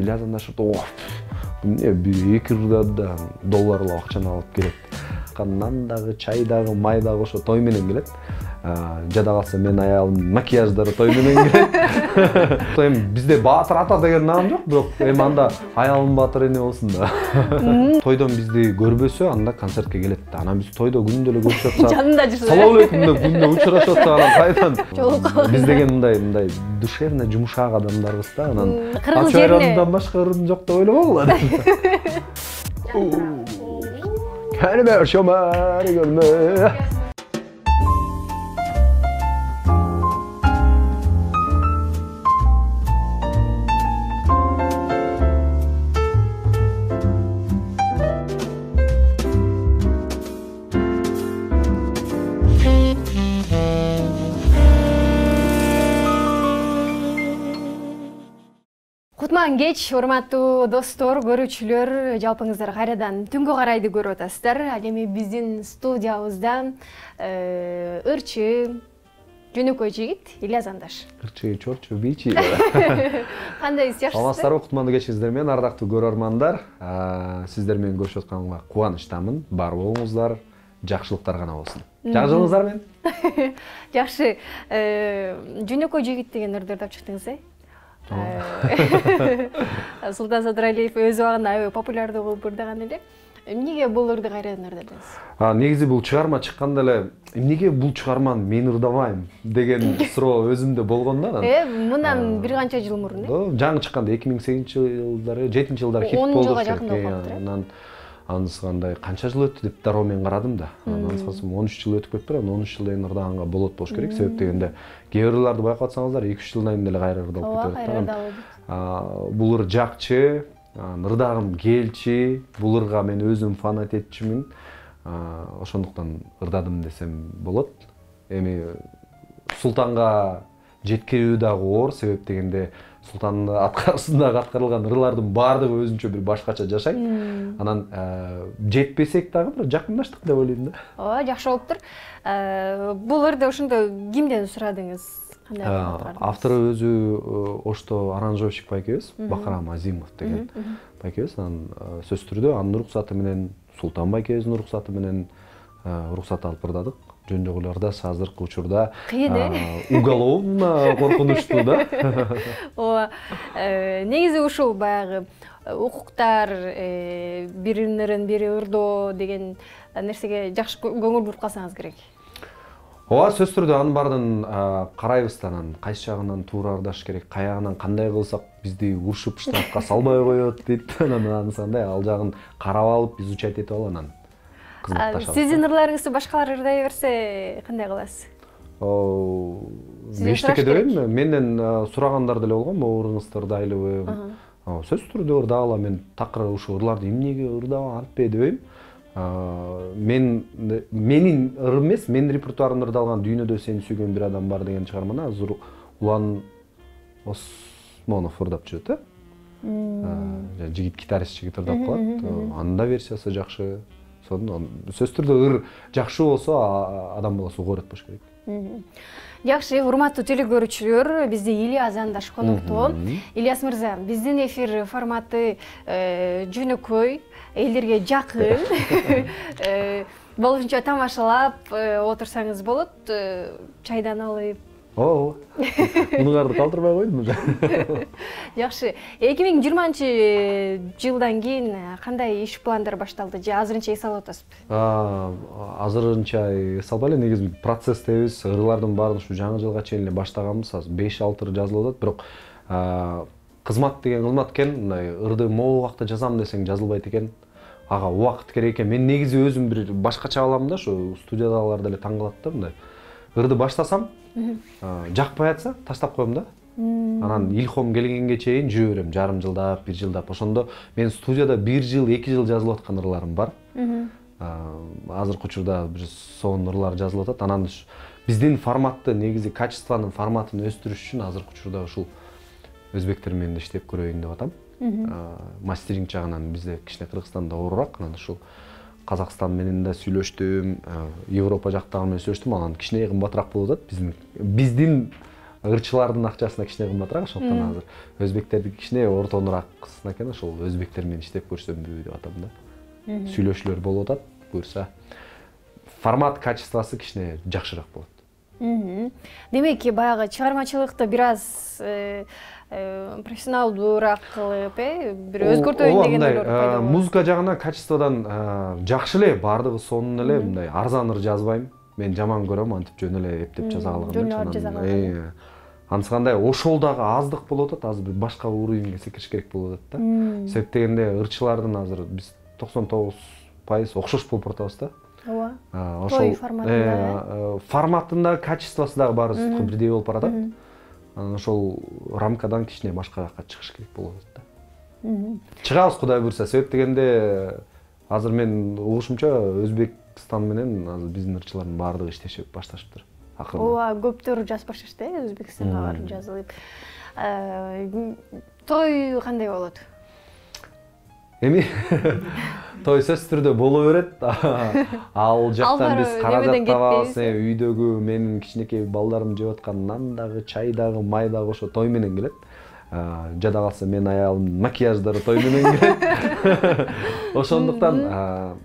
Ильяс Андашев эмне 2 долларлап акчаны алып келет. Нан дагы, чай дагы, май дагы ошо той менен келет. Жада калса мен аялым макияждары той менен келет. Эми бизде Баатыр ата деген наам жок, бирок эми анда аялым Баатыр эне болсун да. Тойдон бизди көрбөсө, анда концертке келет да. Анан биз тойдо күндө эле көрүшүп атсак, жанында жүрсө. Салам алейкум деп күндө учурашып атсак, анан кайдан? Биз деген мындай душевно жумшак адамдарбыз да. Анан ачайрандан башка ырым жок деп ойлобогула. Kelime şömer gönlü. Кутман кеч, урматтуу достор, көрүүчүлөр, жалпыңыздар кайрадан түнгө карайды көрүп атасыздар. Ал эми биздин студиябызда ырчы, жөнөкөй жигит Ильяс Андаш. Ырчы, чорчу, бичи. Кандайсыз, жакшысызбы? Саламатсыздарбы, кутмандуу кечиңиздер менен, ардактуу көрөрмандар. Сиздер менен көрүшүп атканга кубанычтамын. Бар болуңуздар, жакшылыктар гана болсун. Жакшылыгыңыздар менен? Жакшы. Жөнөкөй жигит деген ырдарды алып чыктыңыз, Султан Садыралиев өз убагында аябай популярдуу болуп ырдаган эле. Эмнеге бул ырды кайрадан ырдадыңыз? Негизи бул чыгарма чыкканда эле эмнеге бул чыгарманы мен ырдабайм деген суроо өзүмдө болгон да. Мындан бир канча жыл мурун, жаңы чыкканда 2008-жылдары, 7-жылдары хит болду. 10 жылга жакын болуп калыптыр. Анан анысыкандай канча жыл өттү деп дароо мен карадым да. Анан анысыкасым 13 жыл өтүп кетти, анан 13 жылдан ырдаганга болот болуш керек. Себеп дегенде кээ бирлерди байкап атсаңыздар 2-3 жылдан кийин эле кайра ырдалып кетет. Бул ыр жакчы, ырдагым келчи, бул ырга мен өзүм фанат этчимин. Ошондуктан ырдадым десем болот. Эми Султанга жеткирүү дагы оор, себеп дегенде Султандын аткарысындагы аткарылган ырлардын баардыгы өзүнчө бир башкача жашайт. Анан жетпесек дагы бир жакындаштык деп ойлойм да. Ооба, жакшы болуптур. Бул ырды ошондо кимден сурадыңыз? Автору өзү ошто аранжировщик байкебиз, Бакарам Азимов деген байкебиз. Анан сөзсүз түрдө анын уруксаты менен, Султан байкебиздин уруксаты менен уруксат алып ырдадык. Жөн жок эле азыркы учурда уголовно коркунучтуу да. Ооба. Негизи ушул баягы укуктар, биринен бири ырдоо деген нерсеге жакшы көңүл буруп калсаңыз керек. Ооба, сөзсүз түрдө анын баардыгын карайбыз да, анан кайсы жагынан туура ырдаш керек, каягынан кандай кылсак бизди урушуп штрафка салбай коет дейт. Анан анысындай ал жагын карап алып, изучать этип алып анан Сиздин ырларыңызды башкалар ырдай берсе кандай кыласыз? Эчтеке дебейм, менден сурагандар деле болгон, могу ырыңызды ырдайлыбы? Сөзсүз түрдө ырдагыла, мен такыр ушу ырларды эмнеге ырдабам антпей дебейм. Менин ырым эмес, менин репертуарымда ырдалган Дүйнөдө сени сүйгөн бир адам бар деген чыгарманы азыр Улан Осмонов ырдап жүрөт, жигит гитарист жигит ырдап калат. Анын да версиясы жакшы. Сөзсүз түрдө ыр жакшы болсо адам баласы угу болуш керек. Жакшы, урматтуу телекөрүүчүлөр, бизде Ильяс Андаш коноктоо. Ильяс мырза, биздин эфир форматы жөнөкөй, элдерге жакын. Болушунча тамашалап отурсаңыз болот, чайдан алып. Мунуңарды калтырбай койдум. Жакшы. 2020-жылдан кийин кандай иш пландар башталды? Же азырынча эс алып атасызбы? Азырынча эс албай эле, негизи процесстебиз. Ырлардын баарын ушу жаңы жылга чейин эле баштаганбыз. Азыр 5-6 ыр жазылып атат, бирок кызмат деген кызмат экен. Мындай ырды могу убакта жазам десең жазылбайт экен. Ага убакыт керек экен. Мен негизи өзүм бир башкача алам да, ушу студиядагылар деле таң калат да, мындай. Ырды баштасам, жакпай атса таштап коем да. Анан илхом келгенге чейин жүрө берем, жарым жылдап, 1 жылдап. Ошондо мен студияда 1 жыл, 2 жыл жазылып аткан ырларым бар. Азыркы учурда бир сонун ырлар жазылып атат. Анан биздин форматты, негизи качествонун форматын өстүрүш үчүн азыркы учурда ушул өзбектер менен иштеп көрөйүн деп атам. Мастеринг жагынан бизде кичине Кыргызстанда оорураак. Анан ушул Казакстан менен да сүйлөштүм, Европа жактагы менен сүйлөштүм. Анан кичине кымбатыраак болуп атат. Биздин ырчылардын акчасына кичине кымбатыраак, ошондуктан азыр өзбектердики кичине ортонурааксына экен, ошол өзбектер менен иштеп көрсөмбү деп атам да. Сүйлөшүүлөр болуп атат, буюрса. Формат, качествосы кичине жакшыраак болот. Демек, баягы чыгармачылыкты бир аз профессионалдуураак кылып, бир өзгөртөйүн деген ойлор пайда болот. Музыка жагынан качестводан жакшы эле, баардыгы сонун эле, мындай арзан ыр жазбайм. Мен жаман көрөм, антип жөн эле эптеп жаза калган. Анысы кандай ошол дагы аздык болуп атат, азыр башка уровеньге секириш керек болуп атат да. Себеп дегенде ырчылардын азыр биз 99% окшош болуп атабыз да. Ооба. Той форматында. Форматында, качествосы дагы баары бирдей болуп баратат. Анан ошол рамкадан кичине башка жакка чыгыш керек болуп атат да. Чыгабыз Кудай буйрса. Себеп дегенде азыр мен угушумча Өзбекстан менен азыр биздин ырчылардын баардыгы иштешип башташыптыр. Ооба, көптөр жазып башташты, Өзбекстанга барып жазылып. Той кандай болот? Эми той сөзсүз түрдө боло берет. Ал жактан биз каражат табабыз, үйдөгү менин кичинекей балдарым жеп аткан нан дагы, чай дагы, май дагы ошо той менен келет. Жада калса мен аялымдын макияждары той менен келет. Ошондуктан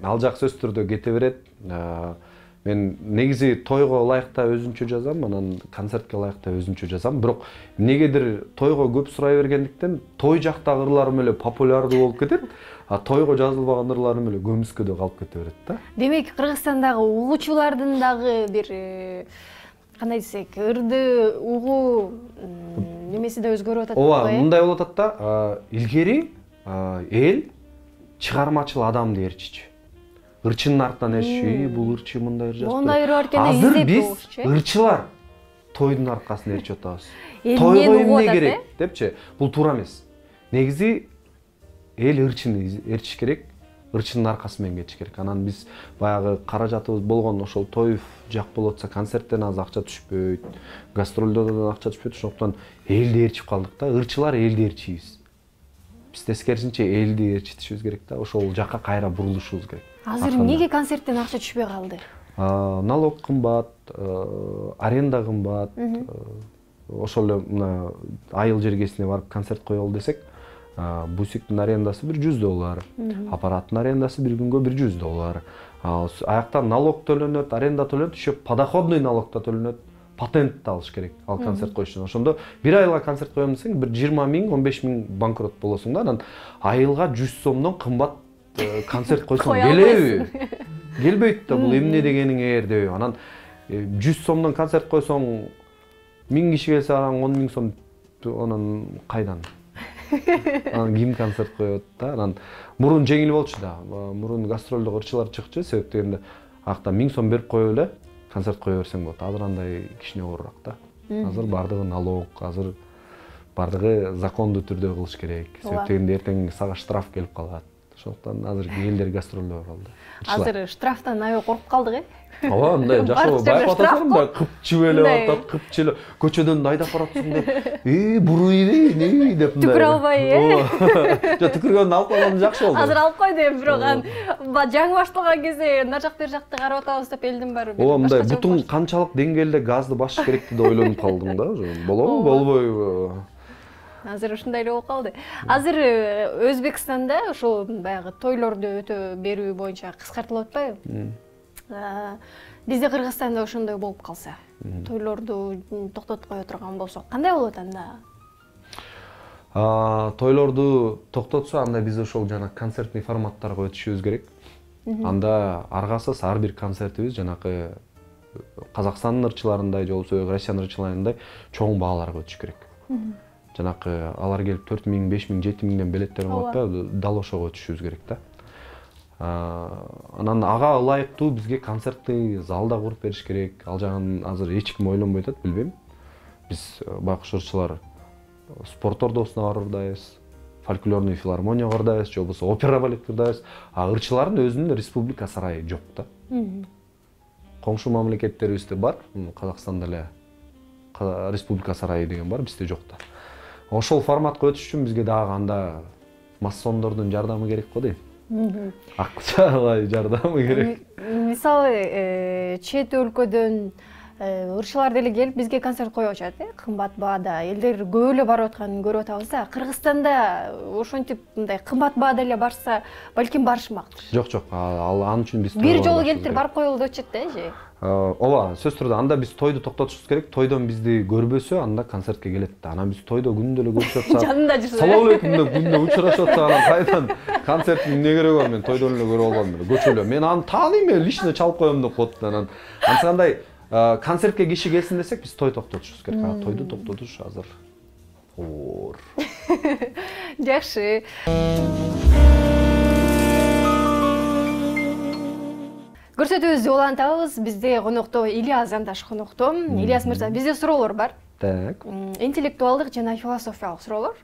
ал жак сөзсүз түрдө кете берет. Мен негизи тойго ылайыкта өзүнчө жазам, анан концертке ылайыкта өзүнчө жазам. Бирок эмнегедир тойго көп сурай бергендиктен той жактагы ырларым эле популярдуу болуп кетет, а тойго жазылбаган ырларым эле көмүскөдө калып кете берет да. Демек, Кыргызстандагы угуучулардын дагы бир кандай десек, ырды угуу немеси да өзгөрүп атат. Ооба, мындай болуп атат да, илгери эл чыгармачыл адамды ээрчичи. Ырчынын артынан ээрчичи, бул ырчы мындай ыр жазып. Ондай ыр бар экен, азыр биз ырчылар тойдун аркасында ээрчип атабыз. Тойго эмне керек депчи? Бул туура эмес. Негизи эл ырчыны ээрчиш керек, ырчынын аркасы менен кетиш керек. Анан биз баягы каражатыбыз болгон ошол той жак болуп атса, концерттен аз акча түшпөйт, гастролдордон акча түшпөйт, ошондуктан элди ээрчип калдык да. Ырчылар элди ээрчийбиз. Биз тескерисинче элди ээрчитишибиз керек да. Ошол жакка кайра бурулушубуз керек. Азыр эмнеге концерттен акча түшпөй калды? Налог кымбат, аренда кымбат. Ошол эле мына айыл жергесине барып концерт коелу десек, бусиктин арендасы $100, аппараттын арендасы бир күнгө $100. Аяктан налог төлөнөт, аренда төлөнөт, еще подоходный налог да төлөнөт. Патент да алыш керек ал концерт коюш үчүн. Ошондо бир айга концерт коем десең, бир 20 000, 15 000 банкрот болосуң да. Анан айылга 100 сомдон кымбат концерт койсоң келеби? Келбейт да, бул эмне дегениң деп. Анан 100 сомдон концерт койсоң 1000 киши келсе, анан 10 000 сом анан кайдан? Анан ким концерт коет да? Анан мурун жеңил болчу да. Мурун гастролдо ырчылар чыкчу, себеп дегенде акта 1000 сом берип коюп эле концерт кое берсең болот. Азыр андай кичине оорураак да. Азыр бардыгы налог, азыр бардыгы закондуу түрдө кылыш керек. Себеп дегенде эртең сага штраф келип калат. Ошондуктан азыр элдер гастролдо калды. Азыр штрафтан аябай коркуп калдык, Ооба, мындай жашоо байкап атасың да, кыпчып эле атат, кыпчып эле көчөдөн айдап баратсың да. Буруйбей, не деп мындай. Түкүрө албай, Жок, түкүргөндү алып койгон жакшы болду. Азыр алып койду, бирок жаңы башталган кезде нар жак бер жакты карап атабыз деп элдин баары. Ооба, мындай бутун канчалык деңгээлде газды басыш керекти деп ойлонуп калдым да. Болобу, болбойбу? Азыр ушундай эле болуп калды. Азыр Өзбекстанда ошол баягы тойлорду өтө берүү боюнча кыскартылып атпайбы? Бизде Кыргызстанда ошондой болуп калса, тойлорду токтотуп кое турган болсок, кандай болот анда? Тойлорду токтотсо, анда биз ошол жана концертный форматтарга өтүшүбүз керек. Анда аргасыз ар бир концертибиз жанакы Казакстандын ырчыларындай, же болбосо Россиянын ырчыларындай чоң бааларга өтүш керек. Жанакы алар келип 4 000, 5 000, 7 000ден билеттерин алып атпайбы, дал ошого өтүшүбүз керек да. Анан ага ылайыктуу бизге концертный зал да куруп бериш керек. Ал жагын азыр эч ким ойлонбой атат, билбейм. Биз байкуш ырчылар спорт ордосуна барырдайбыз, фольклорный филармонияга барырдайбыз, же болбосо опера балетке барырдайбыз. Ырчылардын өзүнүн республика сарайы жок да. Коңшу мамлекеттерибизде бар, Казакстанда эле республика сарайы деген бар, бизде жок да. Ошол форматка өтүш үчүн бизге дагы анда массондордун жардамы керек го дейм. Акчалай жардамы керек. Мисалы, чет өлкөдөн ырчылар деле келип бизге концерт коюп атышат, кымбат баада. Элдер көп эле барып атканын көрүп атабыз да. Кыргызстанда ошентип мындай кымбат баада эле барса, балким барышмактыр. Жок, ал үчүн биз бир жолу келиптир барып коелу деп атышат да, же. Ооба, сөзсүз түрдө анда биз тойду токтотушубуз керек. Тойдон бизди көрбөсө, анда концертке келет да. Анан биз тойдо күндө эле көрүшүп атсак, жанында жүрсө. Салам алейкум деп күндө учурашып атсак, анан кайдан концерттин эмне кереги бар? Мен тойдон эле көрүп алгам эле. Көчөлө. Мен аны тааныйм эле, лично чалып коем деп коет да. Анан ансандай концертке киши келсин десек, биз той токтотушубуз керек. Тойду токтотуш азыр оор. Жакшы. Көрсөтүүбүздү улантабыз. Бизде конокто Ильяс Зандаш конокто. Ильяс мырза, бизде суроолор бар. Так. Интеллектуалдык жана философиялык суроолор.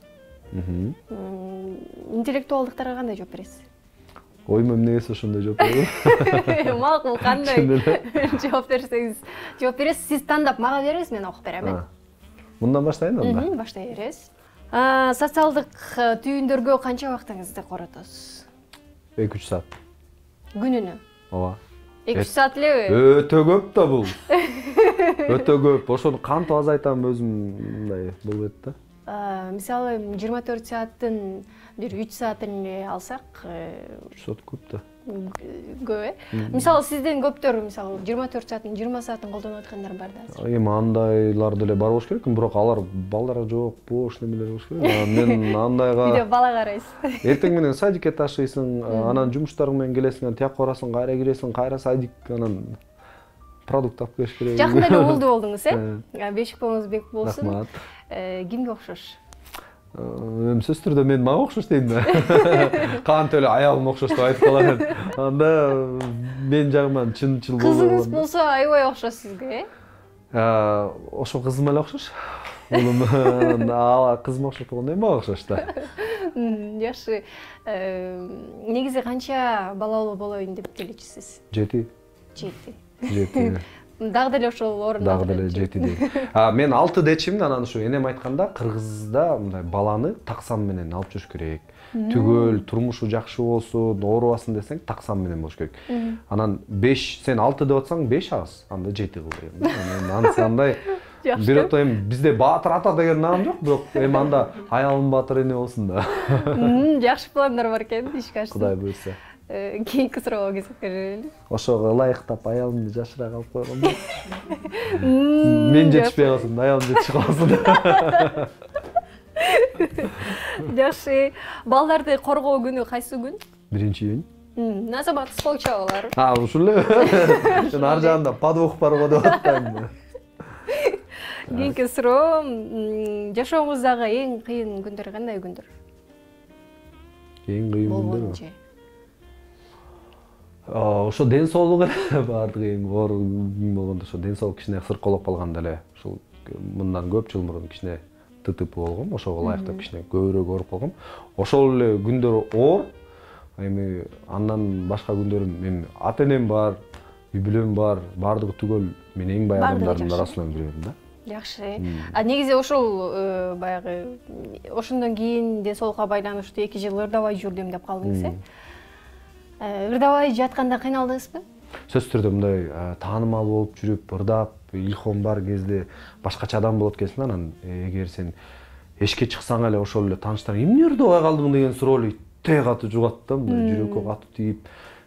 Интеллектуалдыктарга кандай жооп бересиз? Ойма эмне келсе ошондой жооп берем. Макул, кандай жооп берсеңиз жооп бересиз. Сиз тандап мага бериңиз, мен окуп берем. Мындан баштайын анда. Баштай бересиз. Социалдык түйүндөргө канча убактыңызды коротосуз? 2-3 саат. Күнүнө? Ооба. 2-3 саат элеби? Өтө көп да бул. Өтө көп. Ошону кантип азайтам өзүм мындай болбойт да. Мисалы 24 сааттын бир 3 саатын алсак, 3 саат көп да. Көп. Мисалы сизден көптөр, мисалы 24 сааттын 20 саатын колдонуп аткандар бар да. Эми андайлар деле бар болуш керек, бирок алар балдар жок, бош немелер болуш керек. Мен андайга Биде бала карайсыз. Эртең менен садикке ташыйсың, анан жумуштарың менен келесиң, анан тияк барасың, кайра киресиң, кайра садик, анан продукт алып келиш керек. Жакында эле болду болдуңуз, Бешик боңуз бек болсун. Рахмат. Кимге окшош? Эми сөзсүз түрдө мен мага окшош дейм да. Кантип эле аялыма окшош деп айтып калам. Анда мен жагыман чын-чыл болот. Кызыңыз болсо аябай окшош сизге, Ошо кызыма эле окшош. Улум кызыма окшош болгондо эми мага окшош да. Жакшы. Негизи канча балалуу болоюн деп тилечисиз? 7. 7. Дагы деле ошол орунда. Дагы деле 7 дейм. Мен 6 дечим да, анан ушу энем айтканда, Кыргызда мындай баланы таксам менен алып жүрүш керек. Түгөл, турмушу жакшы болсун, оорубасын десең, таксам менен болуш керек. Анан 5, сен 6 деп атсаң, 5 аз, анда 7 кыл дейм. Анан андай бир ото эми бизде Баатыр ата деген наам жок, бирок эми анда аялым Баатыр эне болсун да. Жакшы пландар бар экен, ишке ашсын. Кудай буйрса. Кийинки суроого кезекке берели. Ошого ылайыктап аялымды жашыраак алып койгом. Мен жетишпей калсын, аялым жетишип калсын. Жакшы. Балдарды коргоо күнү кайсы күн? 1-июнь. Назаматсыз болчу алар. Ушул эле. Мен ар жагында подвох бар го деп атпаймынбы. Кийинки суроо, жашооңуздагы эң кыйын күндөр кандай күндөр? Эң кыйын күндөр. Болбойчу. Ошо ден соолук эле баардыгы эң оор күн болгондо, ошо ден соолук кичине сырколоп калганда эле, ушул мындан көп жыл мурун кичине ТТП болгом, ошого ылайыктап кичине көбүрөөк ооруп калгам. Ошол эле күндөр оор. Эми андан башка күндөрүм, эми ата-энем бар, үй-бүлөм бар, баардыгы түгөл мен эң бай адамдардын арасынан бирөмүн да. Жакшы. Негизи ошол баягы ошондон кийин ден соолукка байланыштуу 2 жыл ырдабай жүрдүм деп калдыңыз, Ырдабай жатканда кыйналдыңызбы? Сөзсүз түрдө мындай таанымал болуп жүрүп, ырдап, илхом бар кезде башкача адам болот экенсиң, анан эгер сен эшикке чыксаң эле ошол эле тааныштар эмне ырдабай калдың деген суроо эле итте катуу жугат да, мындай жүрөккө катуу тийип,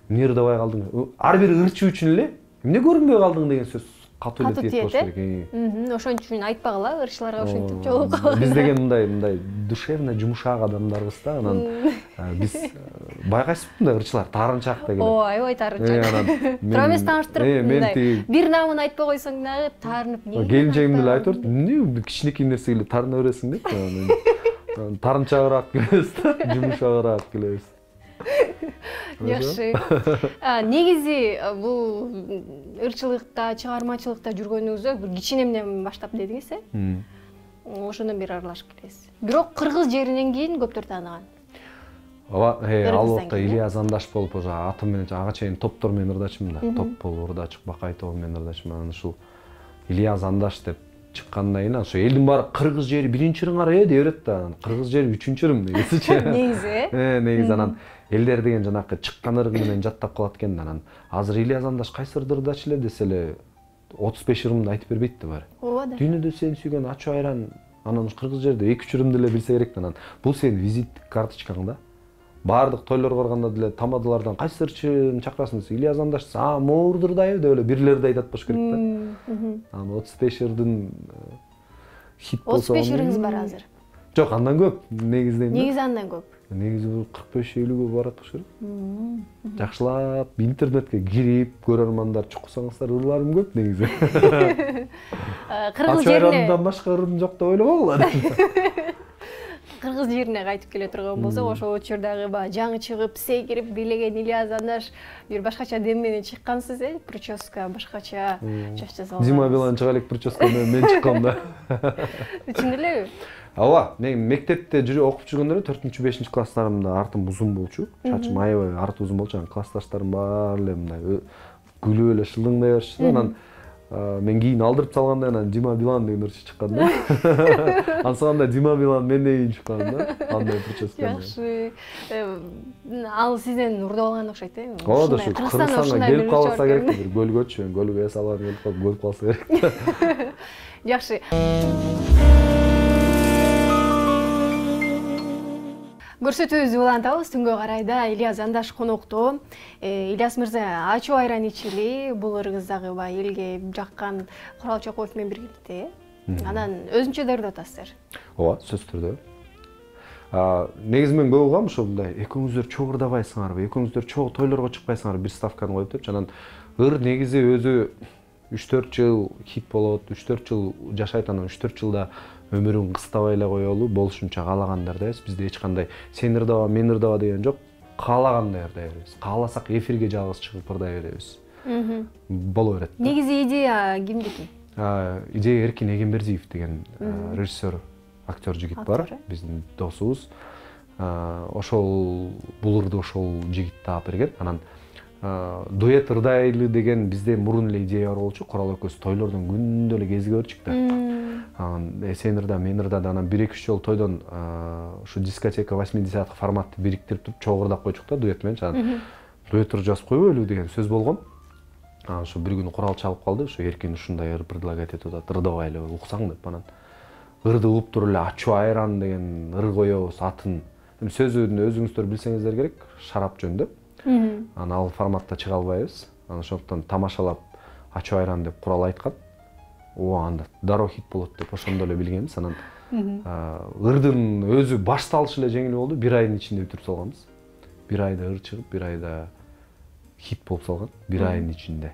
эмне ырдабай калдың? Ар бир ырчы үчүн эле эмне көрүнбөй калдың деген сөз катуу эле тийет болуш керек. Ошон үчүн айтпагыла, ырчыларга ошентип жолугуп калган. Биз деген мындай душевно жумшак адамдарбыз да, анан биз байкайсызбы мындай ырчылар таарынчаак деген. Аябай таарынчаак. Тура эмес тааныштырып, мындай бир наамын айтпай койсоң дагы таарынып эмне? Келинчегим деле айтып берди, эмне кичинекей нерсеге эле таарына бересиң деп. Таарынчагыраак келебиз да, жумшагыраак келебиз. Жакшы. Негизи бул ырчылыкта, чыгармачылыкта жүргөнүңүздө бир кичинемден баштап дедиңиз, ошондон бери аралашып келесиз. Бирок кыргыз жеринен кийин көптөр тааныган. Ооба, албетте Ильяс Зандаш болуп, атым менен ага чейин топтор менен ырдачымын да. Топ болуп ырдачык, Бакай тобу менен ырдачымын. Анан ушул Ильяс Зандаш деп чыккандан кийин ошо элдин баары кыргыз жери биринчи ырың ара деп берет да. Кыргыз жери үчүнчү ырың негизичи. Негизи. Негизи анан элдер деген жанакы чыккан ырыгы менен жаттап калат экен. Анан азыр Ильяс Зандаш кайсы ырды ырдачу эле десе эле 35 ырымды айтып бербейт да баары. Ооба да. Дүйнөдө сени сүйгөн ачуу айран анан кыргыз жерде 2-3 ырымды эле билсе керек да анан. Бул сенин визиттик карточкаң да. Баардык тойлорго барганда деле тамадалардан кайсы ырчын чакырасың десе, Ильяс Андаш, моордурдайбы деп эле бирлерди айтат болуш керек да. Анан 35 ырдын хит болсо. 35 ырыңыз бар азыр. Жок, андан көп негизинен. Негизи андан көп. Негизи 45-50гө барат болуш керек. Жакшылап интернетке кирип, көрөрмандар чуксаңыздар, ырларым көп негизи. Кыргыз жерине андан башка ырым жок деп ойлобогула. Кыргыз жерине кайтып келе турган болсок, ошол учурдагы баягы жаңы чыгып, сейкирип бийлеген Ильяс Андаш бир башкача дем менен чыккансыз, прическа башкача чач жасалган. Дима Билан чыга элек прическа менен мен чыккам да. Чын элеби? Ооба, мен мектепте окуп жүргөндө 4-5 класстарымда артым узун болчу. Чачым аябай арты узун болчу. Классташтарым баары эле мындай күлүп эле шылдыңдай барышты. Анан мен кийин алдырып салганда анан Дима Билан деген ырчы чыккан да. Ансаганда Дима Билан менден кийин чыккан да. Андай прическа. Жакшы. Ал сизден урдап алган окшойт, Ооба, ушу Кыргызстанга келип калса керек бир көлгөчү, көлгө салган келип калса керек. Жакшы. Көрсөтүүбүздү улантабыз. Түнгө карайда Ильяс Андаш конокто. Ильяс мырза, ачуу айран ичили, бул ырыңыз дагы баягы элге жаккан Курал Чокоев менен биргеликте. Анан өзүнчө даярдап атасыздар. Ооба, сөзсүз түрдө. Негизи мен көп угам ушундай, экөөңүздөр чогуу ырдабайсыңарбы, экөөңүздөр чогуу тойлорго чыкпайсыңарбы, бир ставканы коюп депчи. Анан ыр негизи өзү 3-4 жыл хит болот, 3-4 жыл жашайт, анан 3-4 жылда өмүрүн кыстабай эле коелу, болушунча каалагандардайбыз. Бизде эч кандай сен ырдаба, мен ырдаба деген жок. Каалагандай ырдай беребиз. Кааласак эфирге жалгыз чыгып ырдай беребиз. Боло берет. Негизи идея кимдики? Идея Эркин Эгембердиев деген режиссер, актер жигит бар, биздин досубуз. Ошол бул ырды ошол жигит таап берген. Анан дуэт ырдайлы деген бизде мурун эле идея бар болчу. Курал экөөбүз тойлордон күндө эле кезиге көрчүк да. Сен ырда, мен ырдады. Анан 1-2 жол тойдон ушу дискотека 80-ак форматты бириктирип туруп чогуу ырдап койчук да дуэт менен. Анан дуэт ыр жазып койбойлу деген сөз болгон. Анан ушу бир күнү Курал чалып калды. Ушу Эркин ушундай ыр предлагать этип атат, ырдабайлы уксаң деп. Анан ырды угуп туруп эле ачуу айран деген ыр коебуз атын. Сөзүн өзүңүздөр билсеңиздер керек, шарап жөнүндө. Анан ал форматта чыга албайбыз. Анан ошондуктан тамашалап ачуу айран деп Курал айткан. Анда дароо хит болот деп ошондо эле билгенбиз. Анан ырдын өзү башталышы эле жеңил болду. 1 айдын ичинде бүтүрүп салганбыз. 1 айда ыр чыгып, 1 айда хит болуп салган. 1 айдын ичинде.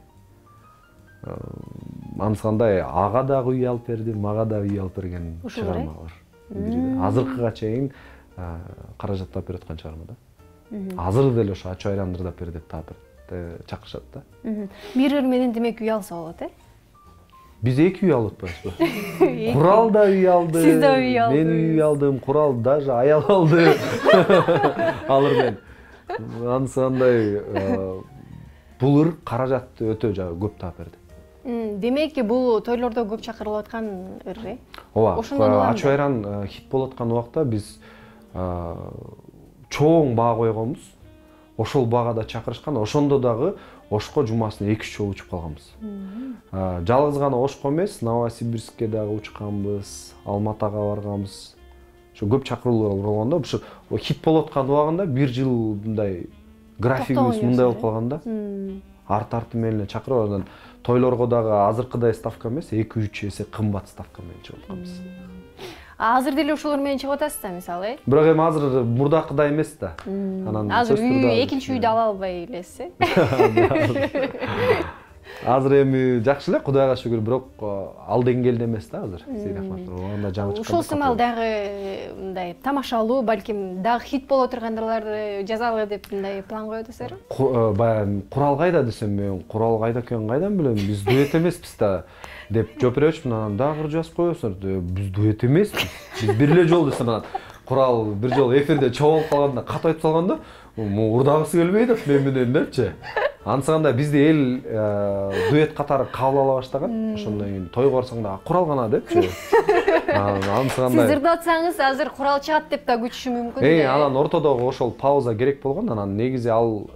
Анысыкандай ага дагы үй алып берди, мага да үй алып берген чыгарма бар. Азыркыга чейин каражат таап берип аткан чыгарма да. Азыр деле ошо ачуу айран ырдап бер деп таап чакырышат да. Бир ыр менен демек үй алса болот, Биз 2 үй алып атпайбызбы? Курал да үй алды. Сиз да үй алдыңыз. Мен үй алдым, Курал даже аял алды. Алыр мен. Анысыкандай бул ыр каражатты өтө көп таап берди. Демек, бул тойлордо көп чакырылып аткан ыр, Ооба. Ачуу айран хит болуп аткан убакта биз чоң баа койгонбуз. Ошол баага чакырышкан. Ошондо дагы Ошко жумасына 2-3 жолу учуп калганбыз. Жалгыз гана Ошко эмес, Новосибирскке дагы учканбыз, Алматага барганбыз. Ошо көп чакыруулар болгондо, ошо хит болуп аткан убагында 1 жыл мындай графигибиз мындай болуп калганда, арты менен чакырып анан тойлорго дагы азыркыдай ставка эмес, 2-3 эсе кымбат ставка менен чыгып атканбыз. Азыр деле ушулар менен чыгып атасыз да, мисалы, Бирок эми азыр мурдакыдай эмес да. Анан азыр экинчи үйдү ала албай элесиз. Азыр эми жакшы эле, Кудайга шүгүр, бирок ал деңгээлде эмес да азыр. Сейит Ахматов анда жаңы чыккан. Ушул сымал дагы мындай тамашалуу, балким дагы хит боло тургандарларды жазалы деп мындай план коюп атасызбы? Баягы Курал кайда десем, мен Курал кайда экенин кайдан билем? Биз дуэт эмеспиз да деп жооп беребичмин. Анан дагы жазып коесуңар. Биз дуэт эмеспиз. Биз бир эле жол десем, анан Курал бир жол эфирде чогулуп калганда кат айтып салганда, урдагысы келбей деп мен менен депчи. Ансаганда бизди эл дуэт катары кабыл ала баштаган. Ошондон кийин тойго барсаң да Курал гана депчи. Анысы Сиз кандай? ырдап атсаңыз азыр курал чыгат деп да күтүшү мүмкүн. Анан ортодогу ошол пауза керек болгон. Анан негизи ал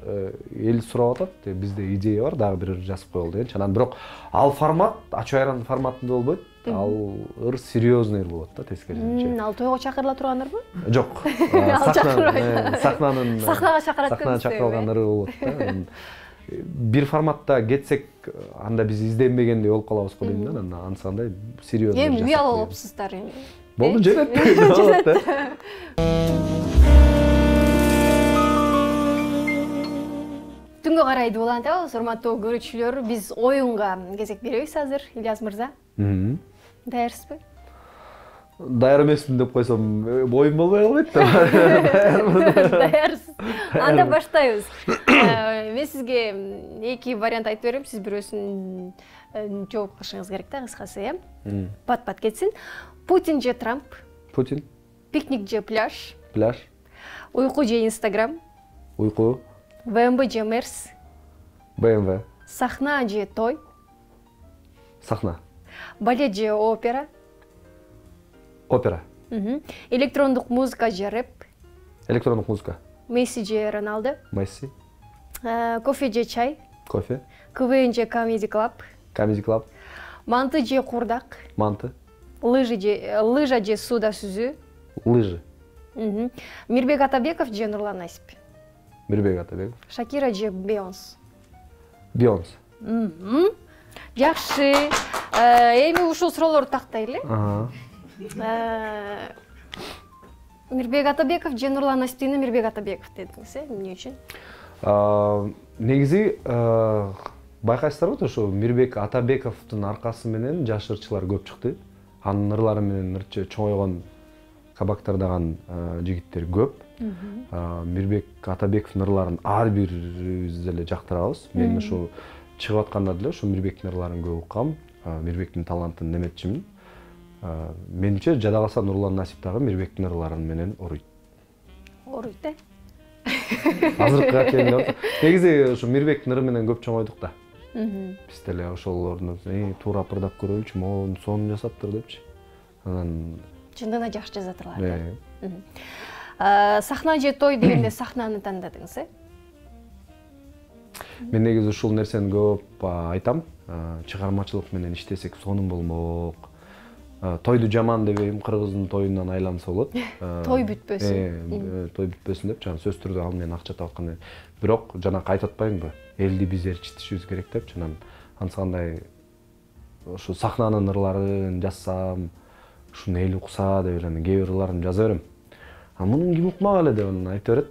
эл сурап атат. Бизде идея бар, дагы бир ыр жазып коелу дегенчи. Анан бирок ал формат ачуу айран форматында болбойт. Ал ыр серьезный ыр болот да тескерисинче. Ал тойго чакырыла турган ырбы? Жок. Сахнага чакырат. Сахнага чакырылган ыры болот да. Бир форматта кетсек, анда биз изденбегендей болуп калабыз го дейм да. Анан анысы кандай серьезный. Эми уял болупсуздар эми. Болду, жетет. Болот да. Түнгө карайды улантабыз, урматтуу көрүүчүлөр. Биз оюнга кезек беребиз азыр, Ильяс мырза. Даярсызбы? Даяр эмесмин деп койсом, оюн болбой калбайт да. Даярсыз. Анда баштайбыз. Мен сизге эки вариант айтып берем, сиз бирөөсүн жооп кылышыңыз керек да, кыскасы, Пат-пат кетсин. Путин же Трамп? Путин. Пикник же пляж? Пляж. Уйку же Инстаграм? Уйку. БМВ же Мерс? БМВ. Сахна же той? Сахна. Балет же опера? Опера. Электрондук музыка же рэп? Электрондук музыка. Месси же Роналдо? Месси. Кофе же чай? Кофе. КВН же Comedy Club? Comedy Club. Манты же курдак? Манты. Лыжа же сууда сүзүү? Лыжи. Мирбек Атабеков же Нурлан Насип? Мирбек Атабеков. Шакира же Бейонс? Бейонс. Жакшы. Эми ушул суроолорду тактайлы. Мирбек Атабеков же Нурлан Насиптин Мирбек Атабеков дедиңиз, эмне үчүн? Негизи байкайсыздарбы, ошо Мирбек Атабековдун аркасы менен жаш ырчылар көп чыкты. Анын ырлары менен ырчы чоңойгон кабактардаган жигиттер көп. Мирбек Атабековдун ырларын ар бирибиз деле жактырабыз. Мен ошо чыгып атканда деле ошо Мирбектин ырларын көп уккам. Мирбектин талантын эметчимин. Менимче жада калса Нурлан Насип дагы Мирбектин ырларын менен уруйт. Уруйт да? Азыркыга келгенде негизи ошо Мирбектин ыры менен көп чоңойдук да. Биз деле ошолордун туура ырдап көрөлүчү, могу сонун жасаптыр депчи. Анан чындыгында жакшы жазатырлар. Сахна же той дегенде сахнаны тандадыңыз, Мен негизи ушул нерсени көп айтам. Чыгармачылык менен иштесек сонун болмок. Тойду жаман дебейм, кыргыздын тоюнан айланса болот. Той бүтпөсүн. Той бүтпөсүн деп, жана сөз түрдө ал менен акча табаткандай. Бирок жанакы айтып атпаймынбы? Элди биз ээрчитишибиз керек деп, анан анысы кандай ушу сахнанын ырларын жазсам, ушуну эл укса деп эле кээ бир ырларын жаза берем. Мунун ким укмак эле деп анан айта берет.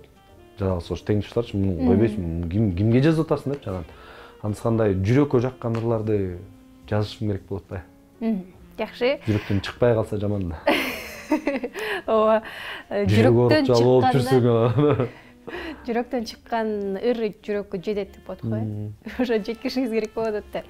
Жада калса ош теңдештирчи, муну койбойсуң, кимге жазып атасың деп, анан анысы кандай жүрөккө жаккан ырларды жазышым керек болот да. Жакшы. Жүрөктөн чыкпай калса жаман да. Ооба. Жүрөктөн чыккан ыр жүрөккө жетет деп атат го. Ошо жеткиришиңиз керек болот да.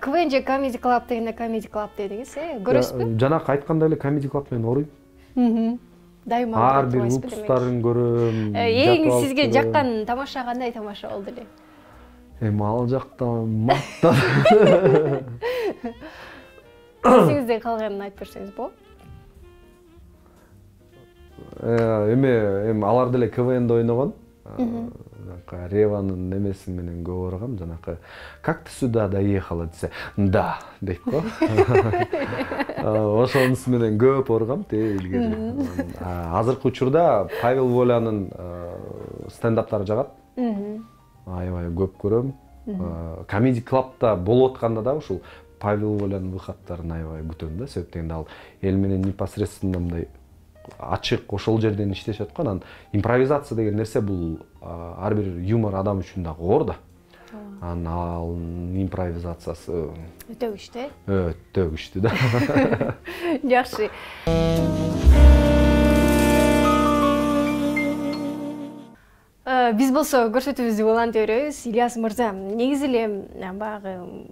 КВН же Comedy Club дегенде Comedy Club дедиңиз, көрөсүзбү? Жанакы айткандай эле Comedy Club менен оруйм. Дайыма ар бир выпусктарын көрөм. Эң сизге жаккан тамаша кандай тамаша болду эле? Эми ал жакта мактап. Эсиңизден калганын айтып берсеңиз болот. Эми алар деле КВНде ойногон. Реванын немеси менен көп баргам, жанакы как ты сюда доехала десе, да дейт го. Ошонусу менен көп баргам илгери. Азыркы учурда Павел Волянын стендаптары жагат. Аябай көп көрөм. Comedy Club'та болуп атканда да ушул Павел Волянын выходдарын аябай күтөм да, себеп дегенде ал эл менен непосредственно мындай ачык ошол жерден иштешет го. Анан импровизация деген нерсе бул ар бир юмор адам үчүн дагы оор да. Анан ал импровизациясы өтө күчтүү. Өтө күчтүү да. Жакшы. Биз болсо көрсөтүүбүздү улантып беребиз. Ильяс мырза, негизи эле баягы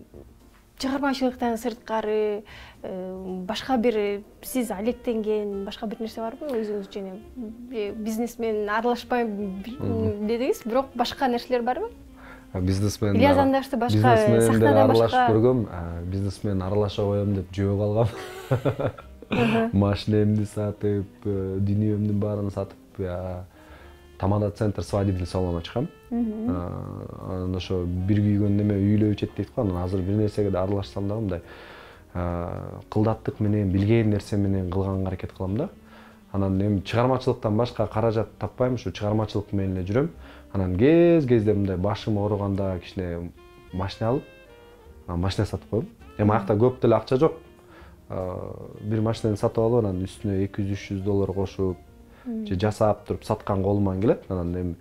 чыгармачылыктан сырткары башка бир сиз алектенген башка бир нерсе барбы? Өзүңүз жана бизнес менен аралашпайм дедиңиз, бирок башка нерселер барбы? бизнесмен Ильяс Андашты башка бизнесмендер сахнада аралашып башка көргөм. Бизнесмен аралаша коем деп жөө калгам. Машинемди сатып, дүнүйөмдүн баарын сатып, тамада центр свадебный салон ачкам. Анан ошо бир күйгөн неме үйлөө ичет дейт го. Анан азыр бир нерсеге да аралашсам да мындай кылдаттык менен, билген нерсе менен кылганга аракет кылам да. Анан эми чыгармачылыктан башка каражат таппайм, ушу чыгармачылык менен эле жүрөм. Анан кезде мындай башым ооруганда кичине машина алып, машина сатып коем. Эми аякта көп деле акча жок. Бир машинаны сатып алып, анан үстүнө $200-300 кошуп, же жасап туруп саткан колуман келет. Анан эми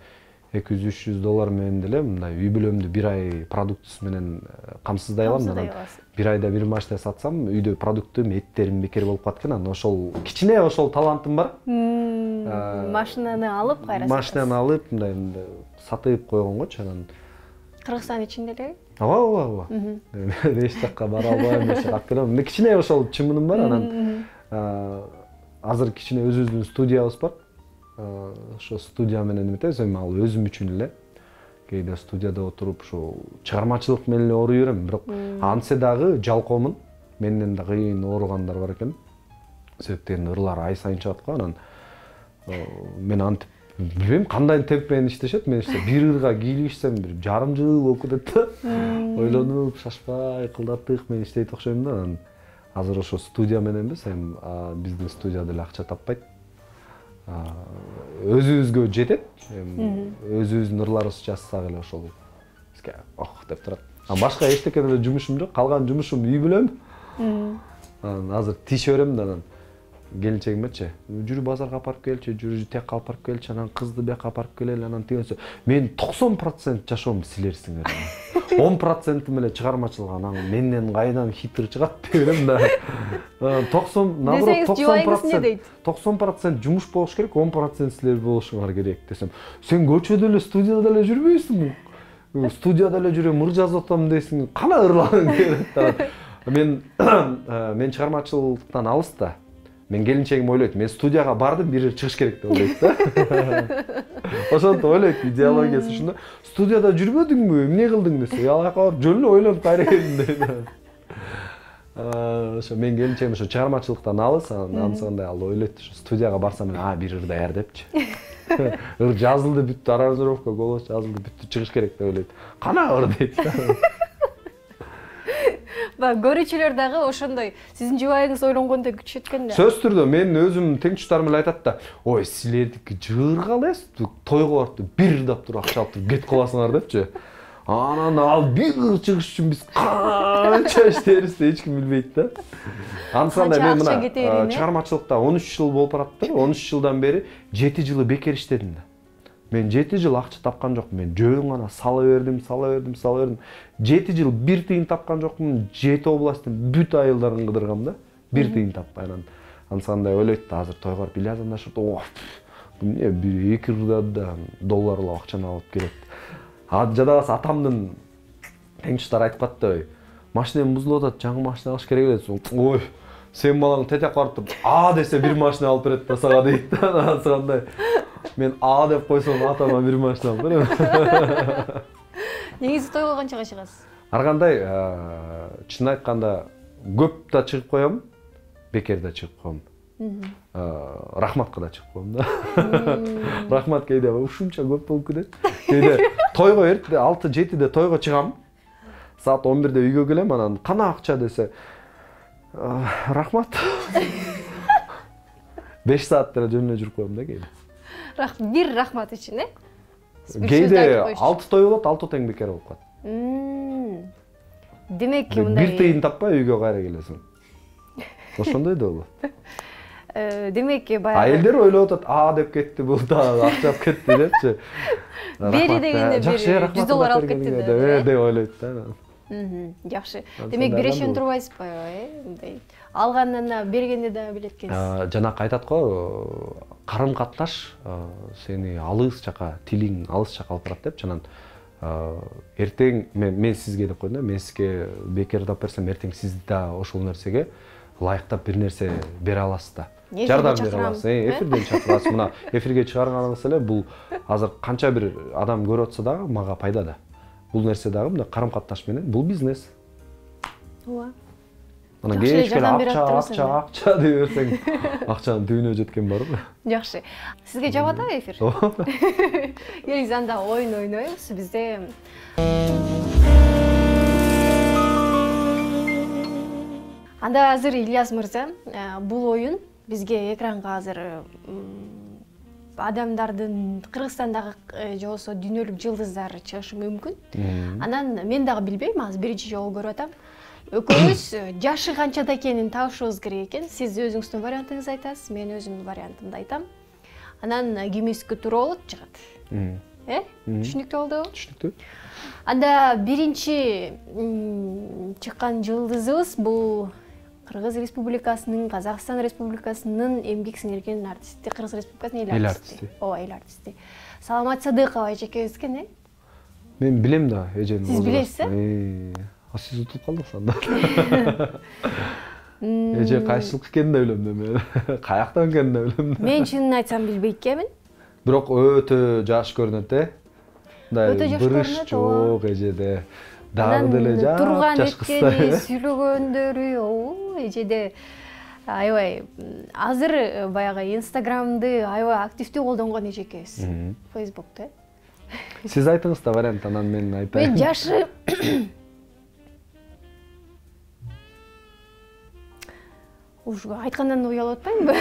$200-300 менен деле мындай үй бүлөмдү бир ай продуктысы менен камсыздай алам. Анан бир айда бир машина сатсам, үйдө продуктум, эттерим бекер болуп калат экен. Анан ошол кичине ошол талантым бар. Машинаны алып кайра машинаны алып, мындай сатып койгонгочу. Анан Кыргызстан ичинде элеби? Ооба. Эч жакка бара албайм, эч жакка келем. Кичине ошол чымыным бар. Анан азыр кичине өзүбүздүн студиябыз бар. Ошо студия менен эметебиз, эми ал өзүм үчүн эле. Кээде студияда отуруп ошо чыгармачылык менен эле ооруй берем, бирок антсе дагы жалкоомун. Менден да кыйын ооругандар бар экен. Себептен ырлар ай сайын чыгат го. Анан мен антип билбейм кандай темп менен иштешет. Мен бир ырга кийлигишсем бир жарым жыл болуп кетет да. Ойлонуп, шашпай, кылдаттык менен иштейт окшойм да. Анан азыр ошо студия менен эмес, эми биздин студия деле акча таппайт. Өзүбүзгө жетет. Өзүбүздүн ырларыбызды жазсак эле ошол бизге деп турат. Башка эчтеке деле жумушум жок. Калган жумушум үй бүлөм. Анан азыр тише берем да, анан келинчегимечи, жүрү базарга апарып келчи, жүрү тияка апарып келчи, анан кызды бияка апарып келели, анан тигенсе, мен 90% жашоомду силерсиңер. 10% эле чыгармачылык, анан менден кайдан хитр чыгат деп берем да. 90% жумуш болуш керек, 10% силер болушуңар керек десем, сен көчөдө эле, студияда эле жүрбөйсүңбү? Студияда эле жүрөм, ыр жазып атам дейсиң, кана ырларың деп. Мен чыгармачылыктан алыс да. Мен келинчегим ойлойт, мен студияга бардым, бир чыгыш керек деп ойлойт да. Ошентип ойлойт, идеологиясы ушунда. Студияда жүрбөдүңбү, эмне кылдың десе, аяка барып жөн эле ойлонуп кайра келдим дейт. Ошо мен келинчегим ошо чыгармачылыктан алыс, ансандай ал ойлойт, ошо студияга барсам, бир ыр даяр депчи. Ыр жазылды, бүттү, аранжировка голос жазылды, бүттү, чыгыш керек деп ойлойт. Кана ыр дейт да. Көрүүчүлөр дагы ошондой сиздин жубайыңыз ойлонгондой күтүшөт экен да. Сөзсүз түрдө мен өзүм теңчтарым эле айтат да, ой, силердики жыгырга элес, тойго барып бир ырдап туруп акча алып туруп кетип каласыңар депчи. Анан ал бир ыр чыгыш үчүн биз канча иштебизди эч ким билбейт да. Ансанда мен мына чыгармачылыкта 13 жыл болуп бараттыр. 13 жылдан бери 7 жылы бекер иштедим да. Мен 7 жыл акча тапкан жокмун. Мен жөн гана сала бердим. 7 жыл бир тыйын тапкан жокмун. 7 областтын бүт айылдарын кыдыргам да. Бир тыйын таппай. Ансандай ойлойт да, азыр тойго барып Ильяс Андашев, эмне бир 2 ырда долларлап акчаны алып келет. Жадабасы атамдын теңчтары айтып катты, машинем бузулуп атат, жаңы машина алыш керек эле. Ой, сен балаң тетек барып туруп, десе бир машина алып берет да сага дейт да. Ансандай мен деп койсом атама бир машина алып берем. Негизи тойго канчага чыгасыз? Ар кандай, чын айтканда көп да чыгып коем, бекер да чыгып коем. Рахматка да чыгып коем да. Рахмат кейде ушунча көп болуп кетет. Кейде тойго эрте 6-7де тойго чыгам. Саат 11де үйгө келем, анан кана акча десе, рахмат. 5 саат деле жөн эле жүрүп коем да кейде. Бир рахмат үчүн, Кейде 6 той болот, 6 тең бекер болуп калат. Демек, мындай бир тыйын таппай үйгө кайра келесиң. Ошондой да болот. Демек, баягы элдер ойлоп атат, деп кетти, бул да акча алып кетти депчи. Бери дегенде бир $100 алып кетти деп ойлойт да. Жакшы. Демек, бирешен турбайсызбы, мындай алгандан бергенде да билет экенсиз. Жанакы айтат го, карым-катнаш сени алыс жака, тилиң алыс жака алып барат депчи. Анан эртең мен сизге деп коем да, мен сизге бекер тап берсем, эртең сиз да ошол нерсеге ылайыктап бир нерсе бере аласыз да. Жардам бере аласыз. Эфирден чакырасыз. Мына эфирге чыгарганыңыз эле бул азыр канча бир адам көрүп атса дагы мага пайда да. бул нерсе дагы мындай карым-катнаш менен бул бизнес. Ооба. Анан кечке акча деп берсең, акчанын түбүнө жеткен барбы? Жакшы. Сизге жагат эфир? Ооба. Келиңиз анда оюн ойнойбуз бизде. Анда азыр Ильяс мырза, бул оюн бизге экранга азыр адамдардын Кыргызстандагы же болбосо дүйнөлүк жылдыздары чыгышы мүмкүн. Анан мен дагы билбейм, азыр биринчи жолу көрүп атам. Экөөбүз жашы канчада экенин табышыбыз керек экен. Сиз өзүңүздүн вариантыңызды айтасыз, мен өзүмдүн вариантымды айтам. Анан кимиздики туура болот чыгат. Түшүнүктүү болдубу? Түшүнүктүү. Анда биринчи чыккан жылдызыбыз бул Кыргыз Республикасынын, Казакстан Республикасынын эмгек сиңирген артисти, Кыргыз Республикасынын эл артисти. Ооба, эл артисти. Саламат Садыкова эжекебиз экен, Мен билем да, эжени. Сиз билесиз? Сиз утуп калдыңыз анда. Эже кайсылык экенин да билем да мен. Каяктан экенин да билем да. Мен чынын айтсам билбейт экенмин. Бирок өтө жаш көрүнөт, Өтө жаш көрүнөт. Жок эжеде. Дагы деле жаш кыздар. Сүйлөгөндөрү, эжеде аябай азыр баягы Инстаграмды аябай активдүү колдонгон эжекебиз. Фейсбукта. Сиз айтыңыз да вариант, анан мен айтайын. Мен жашы уж айткандан уялып атпаймынбы?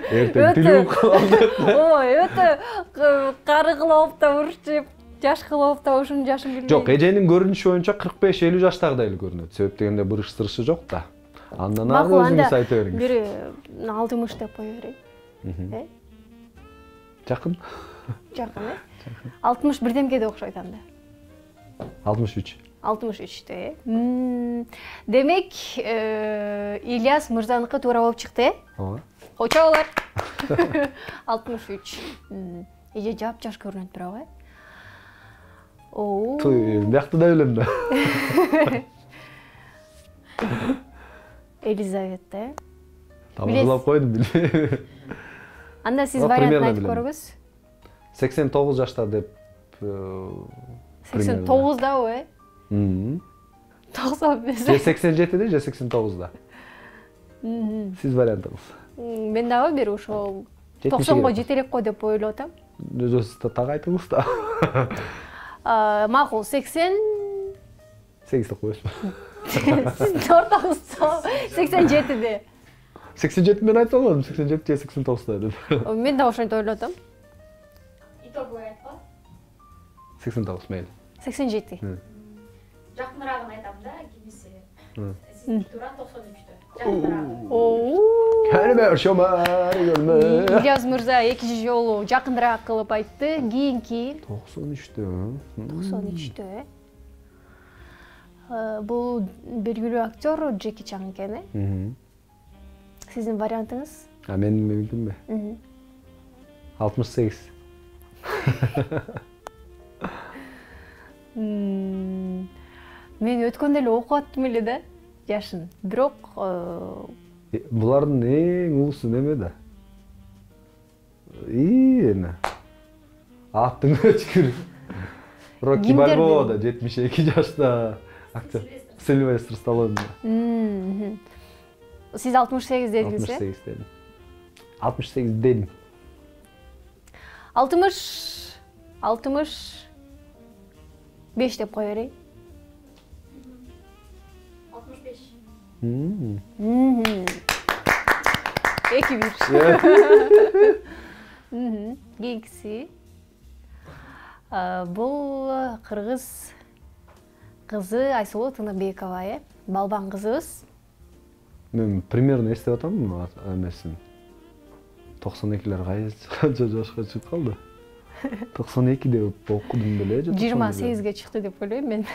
Эртең тилип калды. Ой, өтө кары кылып да урчуп, жаш кылып да ушунун жашын билбейм. Жок, эженин көрүнүшү боюнча 45-50 жаштагыдай эле көрүнөт. Себеп дегенде бурыш-сырышы жок да. Андан ары өзүңүз айта бериңиз. Бири 60 деп кое берейин. Жакын. Жакын, 60 бирдемкеде окшойт анда. 63. 63-те. Демек, Ильяс мырзаныкы туура болуп чыкты, Ооба. Кочолор. 63. Эже жап-жаш көрүнөт бирок, Бияқты да білем да. Елизавета. Тамырлап қойдым білмейм. Анда сіз вариантын айтып көріңіз. 89 жашта деп. 89-да ой? 95. Же 87-де, же 89-да. Сіз вариантыңыз. Мен дагы бир ошол 90-га жетелеп кой деп ойлоп атам. Өзүңүз так айтыңыз да. Макул 80. 8 деп коесузбу. Сиз ортоңуз 87-де. 87 мен айтып алдым, 87 же 89-да деп. Мен да ошентип ойлоп атам. Итоговой айтпа. 89 мейли. 87. Жакыныраагын айтам да, кимиси. Сиз туура 93-тө. Жакыныраагы. Кәлме шомар көрмө. Ильяс мырза экинчи жолу жакыныраак кылып айтты. Кийинки 93-тө. 93-тө. Бул белгилүү актер Джеки Чан экен. Сиздин вариантыңыз? Мен билдимби? 68. Мен өткөндө эле окуп аттым эле да, жашын. Бирок булардын эң улусу неме да? Эне. Аттың өчкүр. Рокки Бальбоа да 72 жашта актер. Сильвестр Сталлоне. Сиз 68 дедиңиз, 68 дедим. 68 дедим. 65 деп кое берейин. 65. 2-1. Кийинкиси. Бул кыргыз кызы Айсулуу Тыныбекова, балбан кызыбыз. Мен примерно эстеп атам эмесин. 92-лер канча жашка чыгып калды? 92 деп окудум беле же? 28-ге чыкты деп ойлойм мен.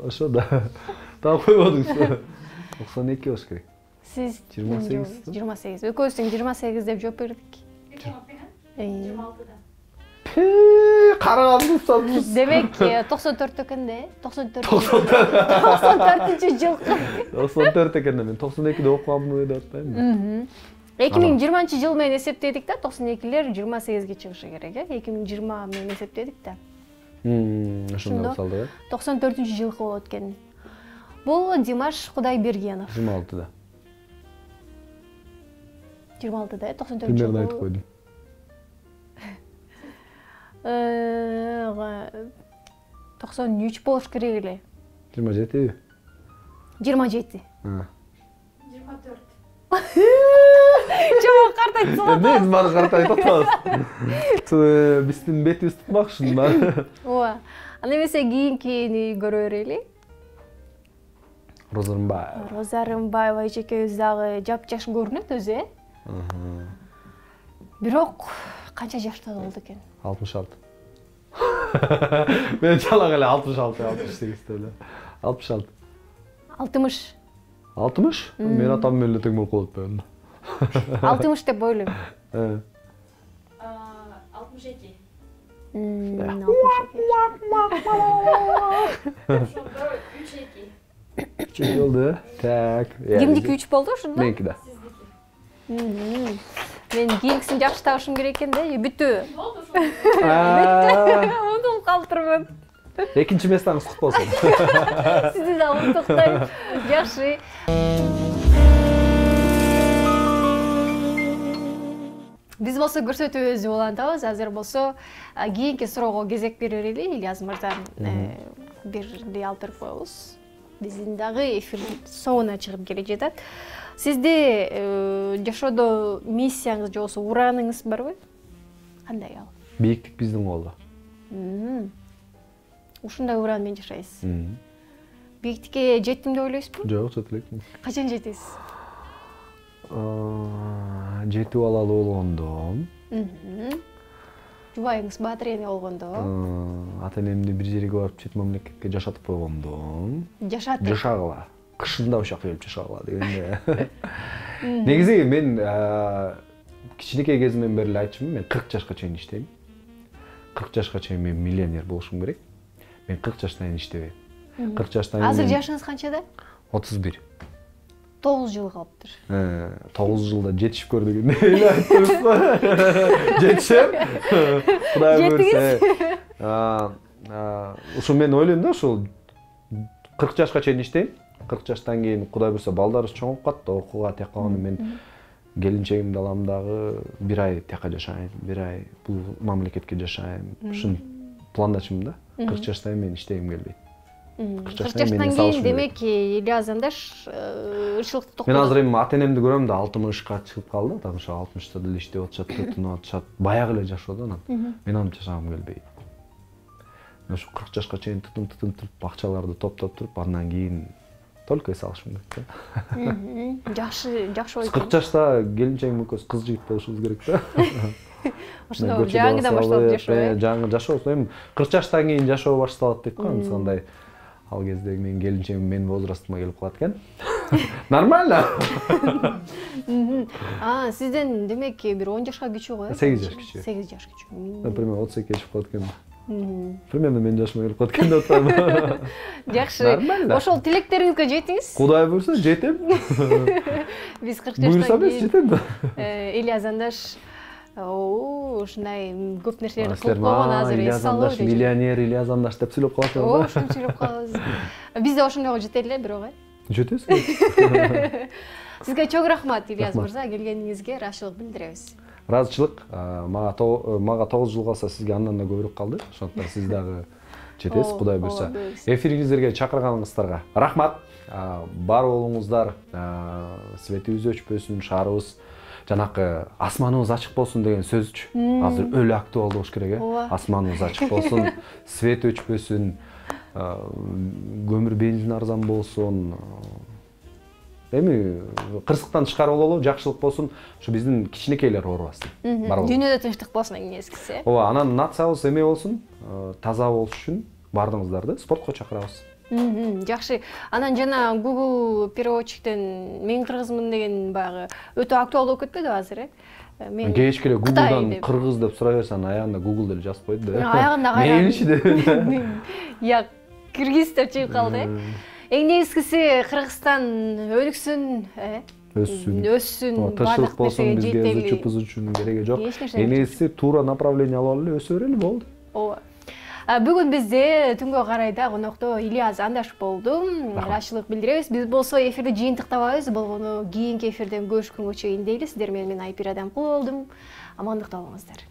Ошо да. Так койбодуңуз. 92 болуш керек. Сиз 28. 28. Экөөбүз тең 28 деп жооп бердик. 26-да. Карагандыңыз. Демек 94 экен да, 94-жыл. 94 экен да, мен 92-де окуганмын деп атпаймынбы? 2020-жыл менен эсептедик да, 92-лер 28-ге чыгышы керек, 2020 менен эсептедик да. Ошондо салдык. 94-жылкы болот экен. Бул Димаш Кудайбергенов. 26-да. 26-да, 94-жылкы. Примерно айтып койдум. 93 болуш керек эле. 27-би? 27. 24. Чоң картайтсың. Мен баары картайтып атабыз. Биздин бетибиз тутмакчы да. Ооба. Анда эмесе кийинкини көрө берели. Роза Рымбаева. Роза Рымбаева эжекебиз дагы жапжаш көрүнөт өзү, Бирок канча жашта болду экен? 66. Мен жалаң эле 66, 68 эле. 66. 60. 60? Мен атам менен эле тең болуп калып атпаймынбы? 60 деп ойлойм. 62. 62. Ошондо 3-2. Чөй болду. Так. Кимдики 3 болду ошондо? Меники да. Сиздики. Мен кийинкисин жакшы табышым керек экен да, бүттү. Болду ошондо. Унутуп калтырмын. Экинчи местаңыз кут болсун. Сизди да унутуктайм. Жакшы. Биз болсо көрсөтүүбүздү улантабыз. Азыр болсо кийинки суроого кезек берели. Ильяз мырза бирди алып берип коебуз. Биздин дагы эфир соңуна чыгып келе жатат. Сизде жашоодо миссияңыз же болбосо урааныңыз барбы? Кандай ал? Бийиктик биздин колдо. Ушундай ураан менен жашайсыз. Бийиктикке жеттим деп ойлойсузбу? Жок, жете элекмин. Качан жетесиз? Жетип алалы болгондо. Жубайыңыз баатыр эне болгондо. Ата энемди бир жерге барып чет мамлекетке жашатып койгондо. Жашатып. Жашагыла. Кышында ошол жака келип жашагыла дегенде. Негизи мен кичинекей кезимден бери эле айтчумун, мен 40 жашка чейин иштейм. 40 жашка чейин мен миллионер болушум керек. Мен 40 жаштан кийин иштебейм. 40 жаштан кийин. Азыр жашыңыз канчада? 31. 9 жыл калыптыр. 9 жылда жетишип көр дегенде эле айттыңыз го. Жетишем. Кудай көрсө. Ушул мен ойлойм да, ушул 40 жашка чейин иштейм. 40 жаштан кийин Кудай бурса балдарыбыз чоңоюп катты, окууга тек калганда мен келинчегимди алам дагы бир ай тияка жашайм, бир ай бул мамлекетке жашайм. Ушун пландачумун да. 40 жаштан мен иштегим келбейт. 40 жаштан кийин демек Ильяз андаш ырчылыкты токтотот. Мен азыр эми ата энемди көрөм да 60ка чыгып калды, так ошо 60та деле иштеп атышат, тынып атышат, баягы эле жашоо да анан. Мен антип жашагым келбейт. Ошо 40 жашка чейин тытын акчаларды топтоп туруп, андан кийин только эс алышым керек да. Жакшы ой. 40 жашта келинчегим экөөбүз кыз жигит болушубуз керек да. Ошондо жаңыдан башталып жашоо. Жаңы жашоо. Эми 40 жаштан кийин жашоо башталат дейт го, андай. Ал кезде мен келинчегим менин возрастыма келип калат экен. Нормально. Сизден демек бир 10 жашка кичүү го? 8 жаш кичүү. 8 жаш кичүү. Например, 32 чыгып калат экен. Примерно мен жашыма келип калат экен деп атам. Жакшы. Ошол тилектериңизге жетиңиз. Кудай буйрса жетем. Биз 40 жаштан буйрса биз жетем да. Ильяз андаш ушундай көп нерселерди кылып койгон азыр эс алып. Миллионер Ильяз андаш деп сүйлөп каласың. Ошентип сүйлөп калабыз. Биз да ошондойго жетели эле бирок. Жетесиз. Сизге чоң рахмат Ильяз мырза, келгениңизге ыраазычылык билдиребиз. Ыраазычылык. Мага 9 жыл калса сизге андан да көбүрөөк калды. Ошондуктан сиз дагы жетесиз, Кудай буйрса. Эфириңиздерге чакырганыңыздарга рахмат. Бар болуңуздар, светибиз өчпөсүн, шаарыбыз жанакы асманыбыз ачык болсун деген сөзчү. Азыр өлө актуалдуу болуш керек, асманыбыз ачык болсун, свет өчпөсүн, көмүр бензин арзан болсун. Эми кырсыктан чыгарып алалы, жакшылык болсун, ушу биздин кичинекейлер оорубасын. Дүйнөдө тынчтык болсун эң эскиси. Ооба, анан нациябыз эме болсун, таза болуш үчүн баардыгыңыздарды спортко чакырабыз. Жакшы. Анан жана Google переводчиктен мен кыргызмын деген баягы өтө актуалдуу болуп кетпеди азыр, Мен кечке Google'дан кыргыз деп сурай берсең, аягында Google деле жазып койду да. Аягында кайра. Мейличи деп. Я кыргыз деп чыгып калды. Эң негизгиси Кыргызстан өнүксүн, өссүн, тынччылык болсун, бизге зычу-пызычу кереги жок. Эң негизгиси туура направление алып эле өсө берели болду. Ооба. Бүгүн бизде түнгө карайда конокто Ильяз Андаш болду. Ыраазычылык билдиребиз. Биз болсо эфирди жыйынтыктабайбыз. Болгону кийинки эфирден көрүшкөнгө чейин дейли. Сиздер менен мен Айпир Адамкул болдум. Амандыкта болуңуздар.